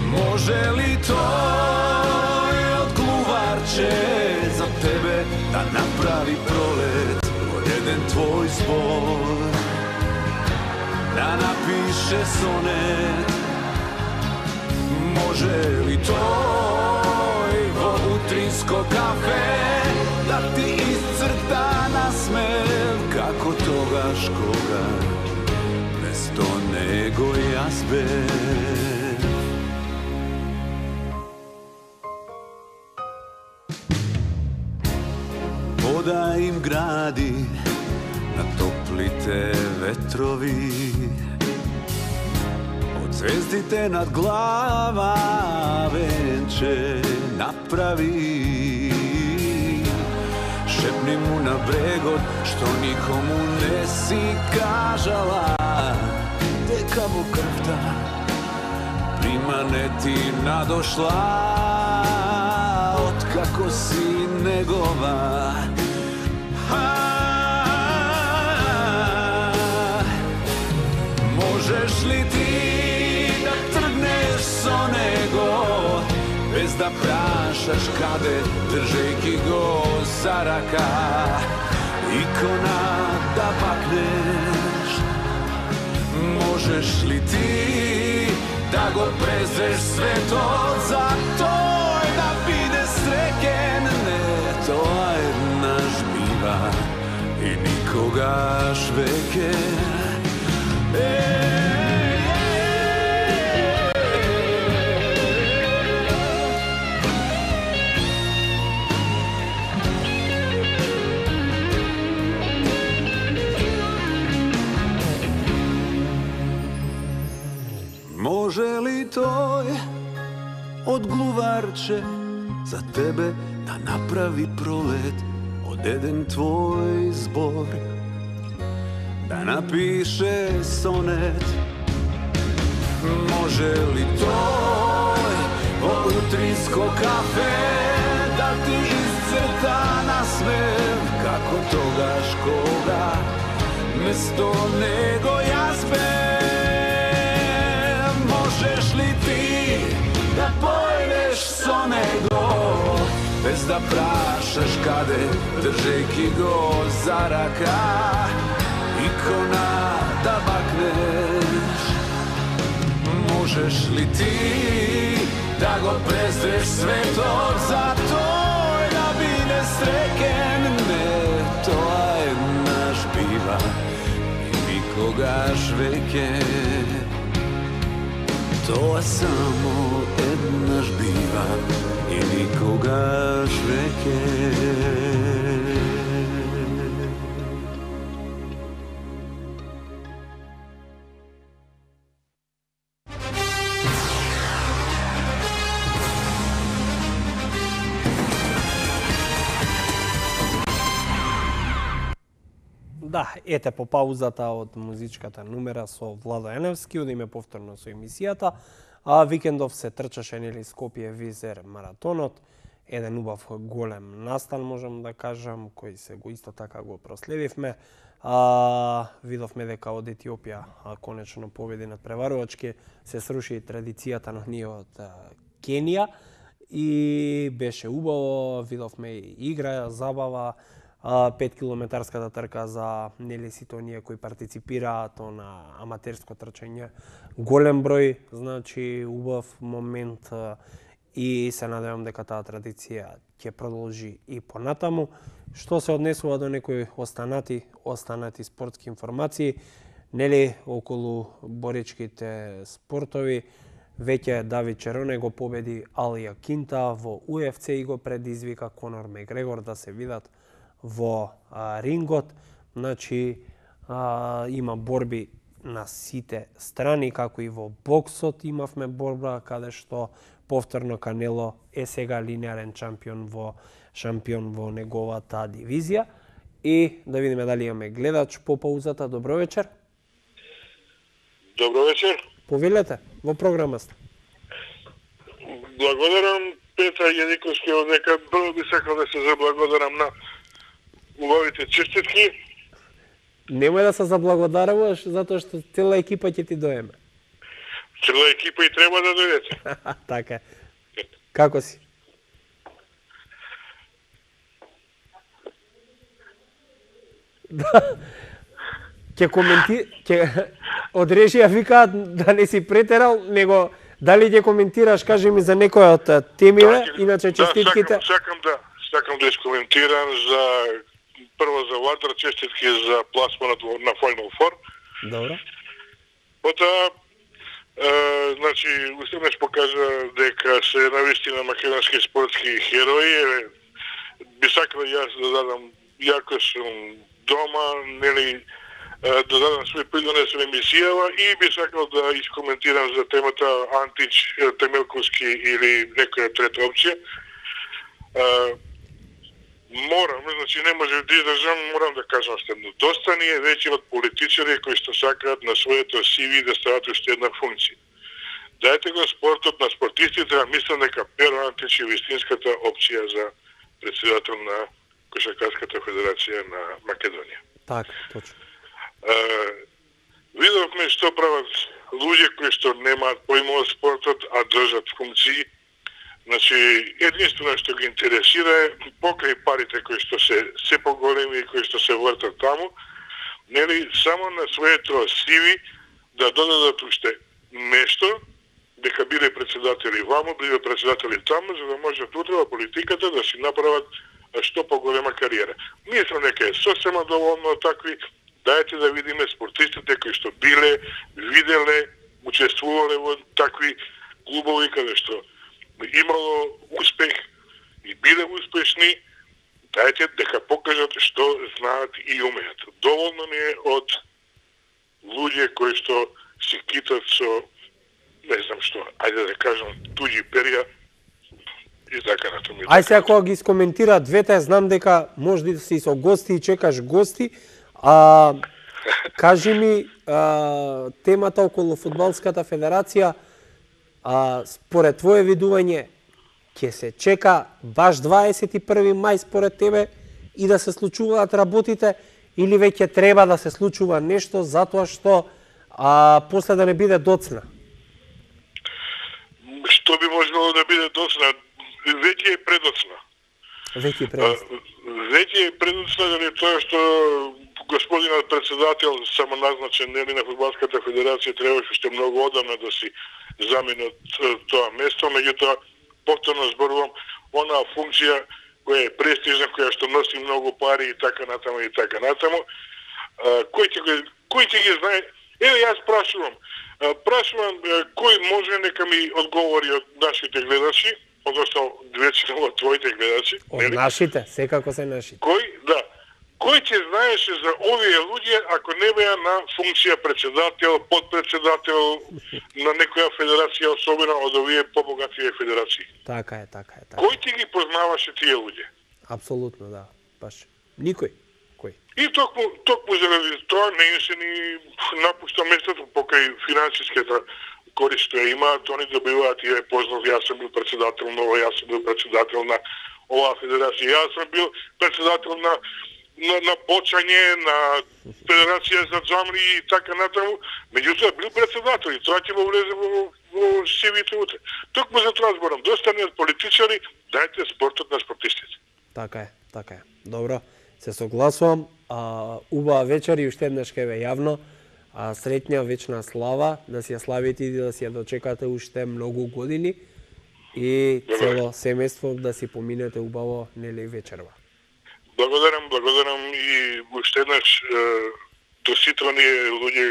Може ли тој од глуварче за тебе да направи пролет? Еден твој збор да напише сонет. Може ли тој во утринско кафе да ти исцрта насмев, како тогаш кога место него јас бев? Вода им гради на топлите ветрови. Од звездите над глава венче направи. Шепни му на брегот што никому не си кажала, дека во крвта прима не ти надошла, откако си негова. Можеш ли ти да тргнеш со него, без да прашаш каде, држејќи го за рака, икона да пакнеш? Можеш ли ти да го презреш светот за тој да биде среќен? Не, тоа еднаш бива и никогаш веќе. Може ли тој од глуварче за тебе да направи пролет? од еден твој збор да напише сонет. Може ли тој во утринско кафе да ти изцрта насмев како тогаш кога место него јас бев? Можеш ли ти да појдеш со него без да прашаш каде, држејќи го за рака, икона да бакнеш? Можеш ли ти да го презреш светот за тој да биде среќен? Не, тоа еднаш бива и никогаш веќе. Тоа само еднаш бива и никогаш веќе. Да, ете по паузата од музичката numera со Владо Еневски, одиме повторно со емисијата. А викендов се трчаше нели Скопје Визер маратонот, еден убав голем настан можам да кажам, кој се го исто така го проследивме. А, видовме дека од Етиопија а, конечно победи над преварувачки, се сруши традицијата на ние од а, Кенија и беше убаво, видовме и игра, забава, пет километарската трка за нели сите оние кои партиципираат на аматерско трчање. Голем број, значи убав момент и се надевам дека таа традиција ќе продолжи и понатаму. Што се однесува до некои останати, останати спортски информации, нели околу боричките спортови, веќе Давид Чероне го победи Алија Кинта во У Еф Це и го предизвика Конор Мегрегор да се видат во а, рингот. Значи а, има борби на сите страни, како и во боксот имавме борба каде што повторно Канело е сега линеарен шампион во шампион во неговата дивизија. И да видиме дали имаме гледач по паузата. Добро вечер. Добро вечер. Повелете, во програма сте. Благодарам Петра Јадиковски од дека прво би сакал да се заблагодарам на убавите честитки. Немој да се заблагодаруваш затоа што цела екипа ќе ти доеме. Цела екипа и треба да дојдете. Така. Како си? Да. Ќе коменти, ќе од режија викаат да не си претерал, него дали ќе коментираш, кажи ми за некој од темиве, да, иначе честитките. Да, сакам, сакам да, сакам да искоментирам за прво за Ватар, честитки за пласманот на Final Four. Добро. Потоа, е, значи, устеднаш покажа дека се навистина македонски спортски херои. Би сакал јас да дадам, јако сум дома, нели, да дадам свој придонес во емисијава и би сакал да искоментирам за темата Антич, Темелковски или некоја трета опција. Морам, значи не може да издржам, морам да кажам следно. Доста ни е веќе од политичари кои што сакаат на своето Си Ви да стават уште една функција. Дајте го спортот на спортистите, а мислам дека Перо Антич е вистинската опција за председател на Кошаркарската федерација на Македонија. Така, точно. Видовме што прават луѓе кои што немаат појма од спортот, а држат функции. Значи, единствено што ги интересира е покрај парите кои што се се поголеми и кои што се вртат таму, нели само на своето Си Ви да додадат уште нешто, дека биле председатели ваму, биле председатели таму, за да можат утре во политиката да си направат што поголема кариера. Мислам дека е сосема доволно такви. Дајте да видиме спортистите кои што биле, виделе, учествувале во такви клубови каде што имало успех и биле успешни, дајте дека покажат што знаат и умеат. Доволно ни е од луѓе кои што си китат со, не знам што, ајде да кажам, туѓи перја и така натаму. Ај сега кога ги искоментира двете, знам дека може да си со гости и чекаш гости, а кажи ми а, темата околу фудбалската федерација, а, според твое видување, ќе се чека баш дваесет и први мај според тебе и да се случуваат работите, или веќе треба да се случува нешто затоа што а, после да не биде доцна? Што би можело да биде доцна? Веќе е предоцна. Веќе е предоцна. Веќе е предоцна заради тоа што господинот председател самоназначен нели на фудбалската федерација требаше уште многу одамна да си замени тоа место, меѓутоа повторно зборувам, онаа функција која е престижна, која што носи многу пари и така натаму и така натаму. Кој ќе го кој ќе ги знае? Еве јас прашувам, прашувам кој може нека ми одговори од нашите гледачи, односно двечено од твоите гледачи, од нели? Нашите, секако се нашите. Кој, да. Кој ќе знаеше за овие луѓе ако не беа на функција председател, подпредседател на некоја федерација, особено од овие побогативе федерации? Така е, така е, така. Кој ти ги познаваше тие луѓе? Апсолутно, да. Баш. Никој. Кој? И токму, токму заради тоа не им се ни напушта местото покрај финансиската корист што ја имаат, они добиваат и ја познав, јас сум бил председател на ова, јас сум бил председател на оваа федерација, јас сум бил председател на на, на почање, на Федерација за џамри и така натаму, меѓутоа бил председател и тоа ќе го влезе во, во сивите утре. Токму за тоа зборам, доста не од политичари, дајте спортот на спортистите. Така е, така е. Добро, се согласувам. А, убава вечер и уште еднаш ке ве јавно. А, среќна вечна слава, да си ја славите и да си ја дочекате уште многу години и цело семејство да си поминете убаво нели вечерва. Благодарам, благодарам и уште еднаш до сите оние луѓе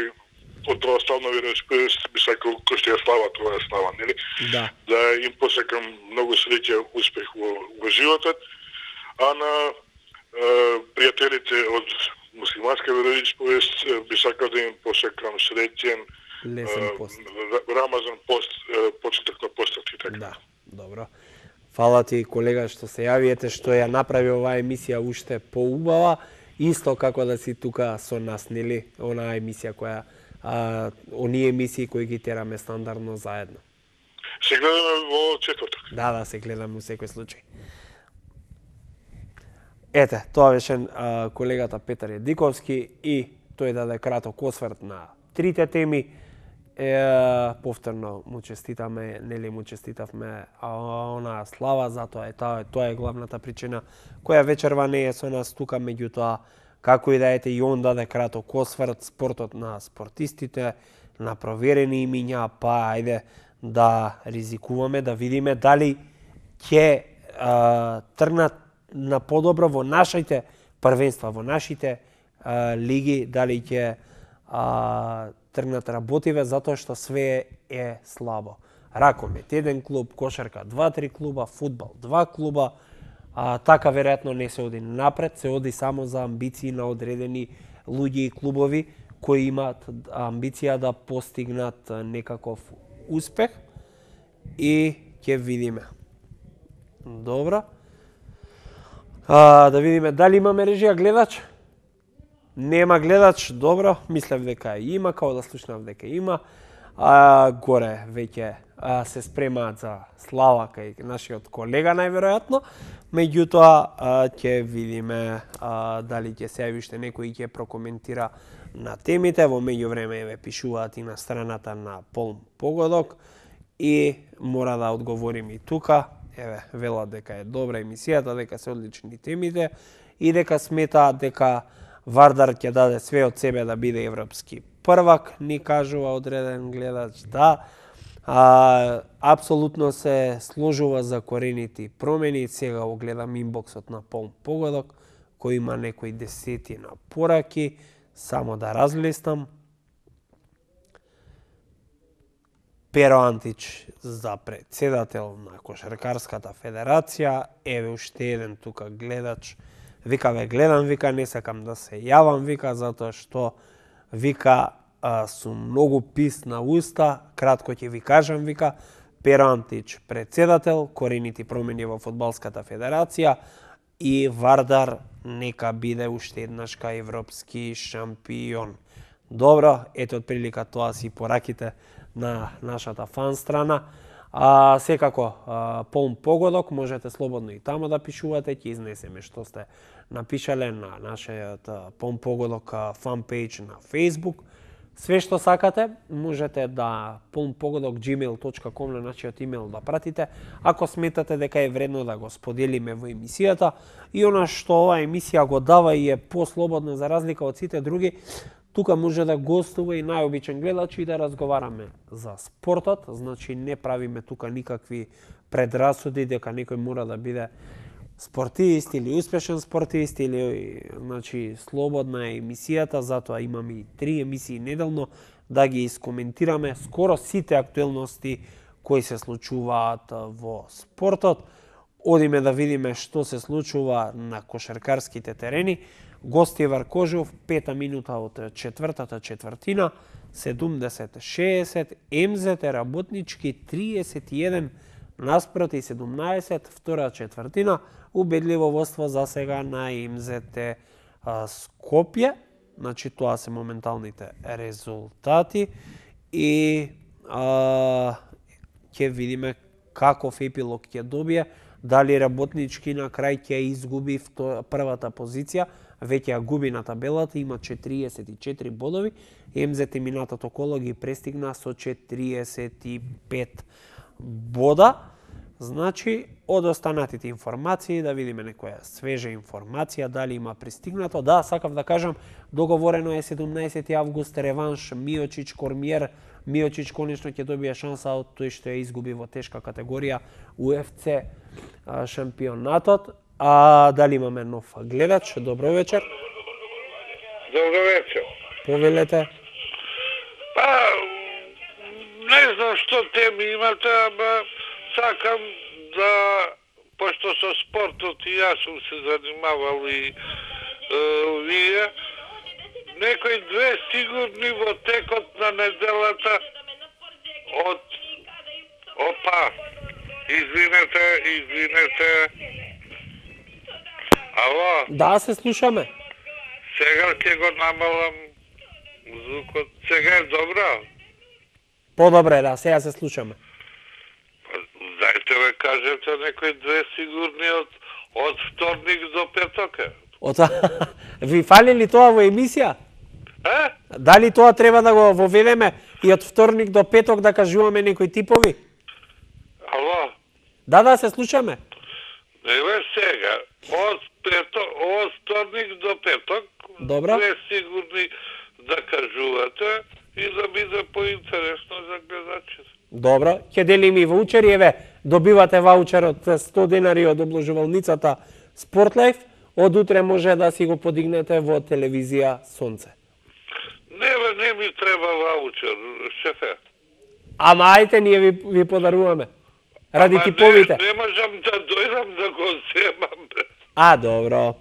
од православна вероисповест би сакал кој што ја слава тоа слава, нели? Да. Да им посакам многу среќа, успех во, во животот, а на е, пријателите од муслиманска вероисповест би сакал да им посакам среќен лесен пост. Рамазан пост, почеток на постот и така. Да, добро. Фала ти, колега, што се јавиете, што ја направи оваа емисија уште поубава, исто како да си тука со нас, нели? Онаа емисија која, а, оние емисии кои ги тераме стандардно заедно. Се гледаме во четврток. Да, да, се гледаме во секој случај. Ете, тоа беше а, колегата Петар Едиковски и тој даде краток осврт на трите теми. Е, повторно му честитаме, нели му честитавме онаа слава, затоа е тоа, тоа е главната причина која вечерва не е со нас тука, меѓутоа како и да ете и он даде краток осврт спортот на спортистите, на проверени имиња, па ајде да ризикуваме, да видиме дали ќе тргнат на подобро во нашите првенства, во нашите а, лиги, дали ќе тргнат работиве, затоа што све е слабо. Ракомет еден клуб, кошарка два-три клуба, фудбал два клуба, а, така веројатно не се оди напред, се оди само за амбиции на одредени луѓе и клубови кои имаат амбиција да постигнат некаков успех и ќе видиме. Добро. А, да видиме дали имаме режија гледач. Нема гледач, добро, мислев дека има, као да слушнав дека има. А, горе веќе а, се спремаат за слава кај нашиот колега најверојатно, меѓутоа ќе видиме а, дали ќе се јави уште некој и ќе прокоментира на темите. Во меѓувреме ве пишуваат и на страната на Полн Погодок и мора да одговорим и тука. Еве, велат дека е добра емисијата, дека се одлични темите и дека сметаат дека Вардар ќе даде све од себе да биде европски првак, ни кажува одреден гледач, да. А, апсолутно се сложува за корените промени. Сега го гледам инбоксот на Полн Погодок, кој има некои десетина пораки, само да разлистам. Перо Антич за председател на Кошаркарската федерација, еве уште еден тука гледач. Вика, ве гледам, вика, не сакам да се јавам, вика, затоа што, вика, а, сум многу пис на уста, кратко ќе ви кажам, вика, Перо Антич председател, корените промени во фудбалската федерација и Вардар нека биде уште еднаш кај европски шампион. Добро, ето од прилика тоа си пораките на нашата фан страна. А секако, а, полн погодок, можете слободно и тамо да пишувате, ќе изнесеме што сте напишале на нашиот полн погодок фан пејдж на Facebook. Све што сакате, можете да полн погодок gmail точка com на нашиот имейл да пратите, ако сметате дека е вредно да го споделиме во емисијата. И она што оваа емисија го дава и е послободна за разлика од сите други, тука може да гостува и најобичен гледач и да разговараме за спортот, значи не правиме тука никакви предрасуди дека некој мора да биде спортист или успешен спортист или значи слободна е емисијата, затоа имаме и три емисии неделно да ги искоментираме скоро сите актуелности кои се случуваат во спортот. Одиме да видиме што се случува на кошаркарските терени. Гости Варкожов, пета минута од четвртата четвртина, седумдесет шеесет, МЗТ Работнички триесет и еден наспроти седумнаесет, втора четвртина, убедливо водство за сега на МЗТ Скопје, значи тоа се моменталните резултати и а, ќе видиме каков епилог ќе добие, дали Работнички на крај ќе изгуби првата позиција, веќе ја губи на табелата, има четириесет и четири бодови, МЗТ минатото коло ги престигна со четириесет и пет бода. Значи, од останатите информации, да видиме некоја свежа информација, дали има пристигнато. Да, сакав да кажам, договорено е седумнаесети август реванш Миочич Кормиер. Миочич конечно ќе добие шанса од тој што ја изгуби во тешка категорија У Еф Це шампионатот. А дали имаме нов гледач? Добро вечер. Добро вечер. Повелете. Па, не знам што теми имате, ама сакам да, пошто со спортот и јас сум се занимавал и е, вие, некои две сигурни во текот на неделата од... Опа, извинете, извинете. Ало? Да, се слушаме. Сега ќе го намалам звукот. Сега е добро? Подобре, да, сега се слушаме. Дајте ме кажете некои две сигурни од, од вторник до петок. Од... Ви фали ли тоа во емисија? Е? Дали тоа треба да го воведеме и од вторник до петок да кажуваме некои типови? Ало? Да, да, се слушаме. Еве сега, од петок, од вторник до петок, Добро. две сигурни да кажувате и да биде поинтересно за гледачите. Добро, ќе делим и ваучери, еве, добивате ваучер од сто денари од обложувалницата Спортлайф, од утре може да си го подигнете во телевизија Сонце. Не, бе, не ми треба ваучер, шефе. Ама ајте, ние ви, ви подаруваме. Ради Ама типовите. Не, не можам да дојдам да го земам, бе. А, добро.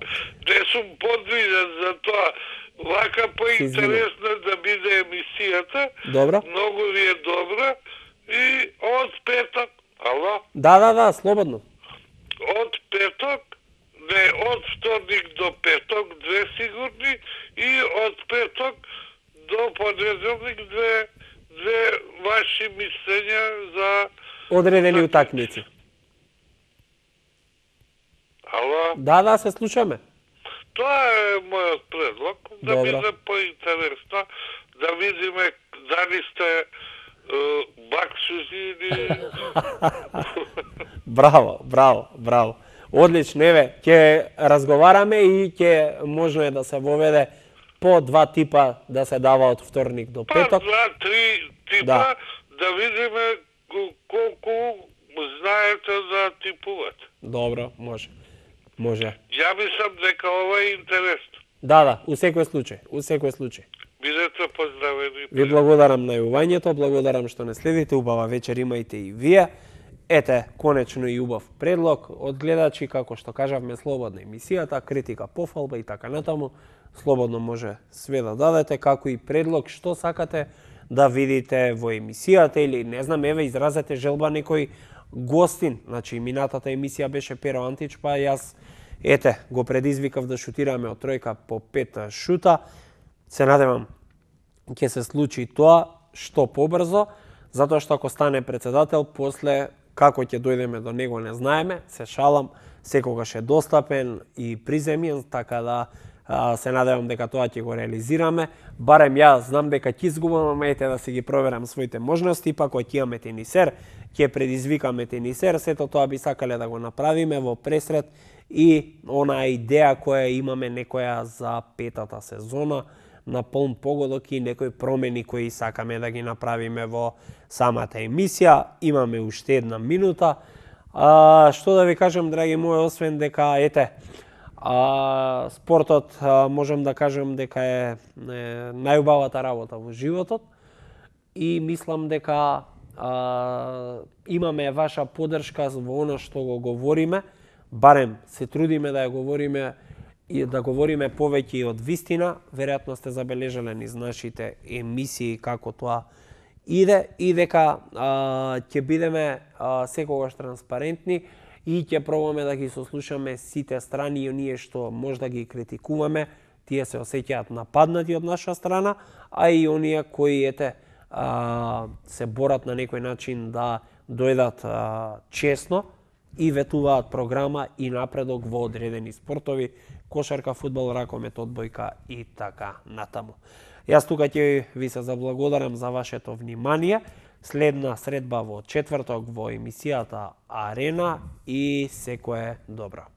Не сум подвиден за тоа. Вака поинтересно да биде емисијата. Добро. Многу ви е добра. И од петок, ало? Да, да, да, слободно. Од петок, не, од вторник до петок, две сигурни, и од петок до понеделник две, две ваши мислења за... Одредени утакмици. Ало? Да, да, се слушаме. Тоа е мојот предлог, да Добро. биде поинтересно, да видиме дали сте е, баксузи или... Браво, браво, браво. Одлично, еве, ќе разговараме и ќе можно е да се воведе по два типа да се дава од вторник до Па, петок. два, три типа, Да. да, да видиме колку знаете да типувате. Добро, може. Може. Ја мислам дека ова е интересно. Да, да, у секој случај, у секој случај. Бидете поздравени. Ви благодарам на јувањето, благодарам што не следите, убава вечер имајте и вие. Ете, конечно и убав предлог од гледачи, како што кажавме, слободна емисијата, критика, пофалба и така натаму. Слободно може све да дадете, како и предлог што сакате да видите во емисијата или не знам, еве изразете желба некој гостин. Значи минатата емисија беше Перо Антич, па јас ете го предизвикав да шутираме од тројка по пет шута. Се надевам ќе се случи тоа што побрзо, затоа што ако стане председател, после како ќе дојдеме до него не знаеме, се шалам, секогаш е достапен и приземен, така да а, се надевам дека тоа ќе го реализираме. Барем ја знам дека ќе изгубам, ете да си ги проверам своите можности, па кога ќе имаме тенисер, ќе предизвикаме тенисер, сето тоа би сакале да го направиме во пресред и онаа идеја која имаме некоја за петата сезона, на полн погодок и некои промени кои сакаме да ги направиме во самата емисија. Имаме уште една минута. А, што да ви кажем, драги мои, освен дека, ете, а, спортот, а, можем да кажем дека е, е најубавата работа во животот и мислам дека а, имаме ваша поддршка во оно што го говориме, барем се трудиме да ја говориме и да говориме повеќе и од вистина. Веројатно сте забележале низ нашите емисии како тоа иде и дека а, ќе бидеме а, секогаш транспарентни и ќе пробаме да ги сослушаме сите страни и оние што можда ги критикуваме, тие се осеќаат нападнати од наша страна, а и оние кои ете а, се борат на некој начин да дојдат а, честно и ветуваат програма и напредок во одредени спортови, кошарка, фудбал, ракомет, одбојка и така натаму. Јас тука ќе ви се заблагодарам за вашето внимание. Следна средба во четврток во емисијата Арена и секое добро.